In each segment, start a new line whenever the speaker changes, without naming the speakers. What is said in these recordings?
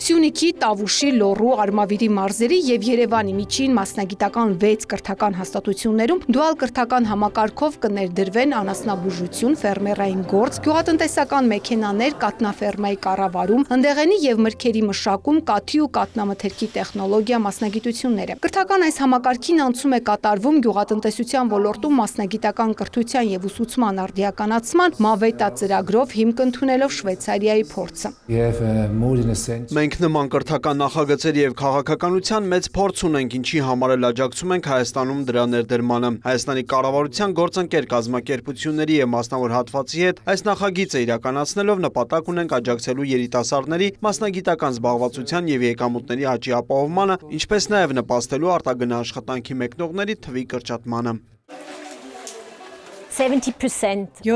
Սյունիքի, Տավուշի, Լոռու, Արմավիրի մարզերի եւ Երևանի միջին մասնագիտական 6 կրթական հաստատություններում դուալ կրթական համակարգով կներդրվեն անասնաբուժություն, ֆերմերային գործ, գյուղատնտեսական մեքենաներ, կատնաֆերմայի կառավարում, հնդեղենի եւ մրգերի մշակում, կաթի ու կատնամթերքի տեխնոլոգիա մասնագիտությունները։ Կրթական այս համակարգին անցում է կատարվում գյուղատնտեսության ոլորտում մասնագիտական կրթության եւ ուսուցման արդիականացման Մավետա ծրագրով հիմք ընդունելով Շվեյցարիայի փորձը։
Մենք նման կրթական նախագծեր եւ քաղաքականության մեծ փորձ ունենք, ինչի համար էլ աջակցում ենք Հայաստանում դրա ներդրմանը։ Հայաստանի կառավարության գործընկեր կազմակերպությունների եւ մասնավոր հատվածի հետ այս նախագիծը իրականացնելով նպատակ ունենք աջակցելու երիտասարդների մասնագիտական զբաղվածության եւ եկամուտների աճի ապահովմանը, ինչպես նաեւ նպաստելու արտագնա աշխատանքի մեկնողների թվի կրճատմանը։
70%-ը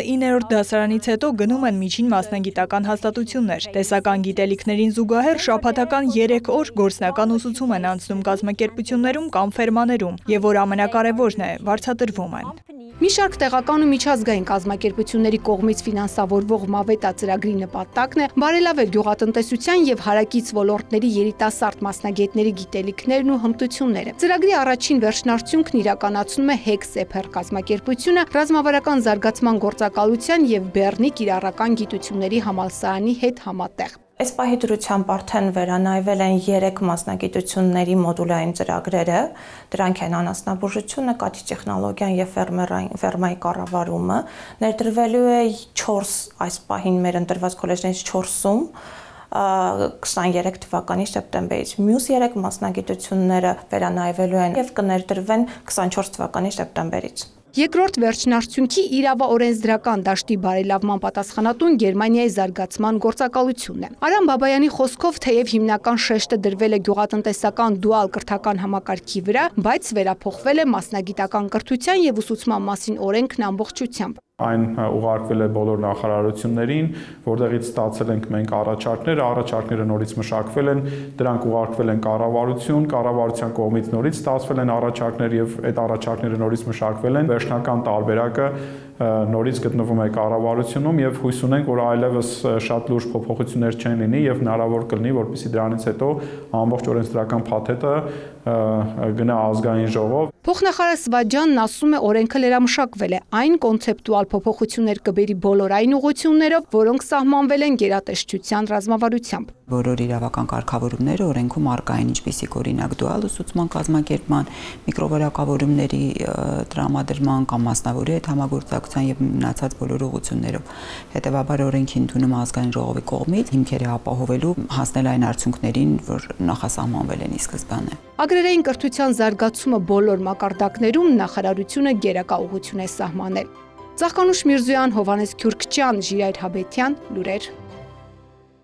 9-րդ դասարանից հետո գնում են միջին մասնագիտական հաստատություններ։ Տեսական գիտելիքներին զուգահեռ շաբաթական 3 օր գործնական ուսուցում են անցնում կազմակերպություններում կամ ֆերմաներում, եւ որ ամենակարևորն է, վարձատրվում են։
Մի շարք տեղական ու միջազգային կազմակերպությունների կողմից ֆինանսավորվող Մավետա ծրագրի նպատակն է բարելավել գյուղատնտեսության եւ հարակից ոլորտների երիտասարդ մասնագետների գիտելիքներն ու հմտությունները։ Ծրագրի առաջին վերջնարդյունքն իրականացնում է HEC-SEPER կազմակերպությունը ռազմավարական զարգացման գործակալության եւ Բեռնի կիրառական գիտությունների համալսարանի հետ համատեղ։
Այս պահի դրությամբ արդեն վերանայվել են 3 մասնագիտությունների մոդուլային ծրագրերը, դրանք են անասնաբուժությունը, կաթի տեխնոլոգիան եւ ֆերմայի կառավարումը, ներդրվելու է 4 այս պահին մեր ընտրված քոլեջներից 4-ում 23 թվականի սեպտեմբերից։ Մյուս 3 մասնագիտությունները վերանայվելու են եւ կներդրվեն 24 թվականի սեպտեմբերից։
Երկրորդ վերջնարդյունքի իրավաօրենսդրական դաշտի բարելավման պատասխանատուն Գերմանիայի զարգացման գործակալությունն է։ Արամ Բաբայանի խոսքով թեև հիմնական շեշտը դրվել է գյուղատնտեսական դուալ կրթական համակարգի վրա, բայց վերափոխվել է մասնագիտական կրթության եւ ուսուցման մասին օրենքն ամբողջությամբ։
Այն ուղարկվել է բոլոր նախարարություններին, որտեղից ստացել ենք մենք առաջարկները նորից մշակվել են, դրանք ուղարկվել են կառավարություն, կառավարության կողմից նորից ստացվել են առաջարկներ եւ այդ առաջարկները նորից մշակվել են։ Վերջնական տարբերակը նորից գտնվում է կառավարությունում եւ հույս ունենք, որ այլևս շատ լուրջ փոփոխություններ չեն լինի եւ հնարավոր կլինի, որպեսզի դրանից հետո ամբողջ օրենսդրական փաթեթը գնա ազգային ժողով։
Փոխնախարար Սվաջյանն ասում է, օրենքը լրամշակվել է, այն կոնցեպտուալ փոփոխություններ կբերի բոլոր այն ուղղություններով, որոնք սահմանվել են գերատեսչության ռազմավարությամբ։
Բոլոր իրավական կարգավորումները օրենքում առկա են, ինչպիսիք օրինակ դուալ ուսուցման կազմակերպման, միկրովորակավորումների տրամադրման կամ մասնավորի հետ համագործակցության եւ մնացած բոլոր ուղղություններով։ Հետեւաբար օրենքի ընդունումը ազգային ժողովի կողմից հիմքեր է ապահովելու հասնել այն արդյունքներին, որ նախասահմանվել են ի սկզբանե։
Ագրարային կրթության զարգացումը բոլոր մակարդակներում նախարարությունը գերակա ուղղություն է սահմանել։ Ծաղկանուշ Միրզոյան, Հովանես Քյուրքչյան, Ժիրայր Հաբետյան, լուրեր։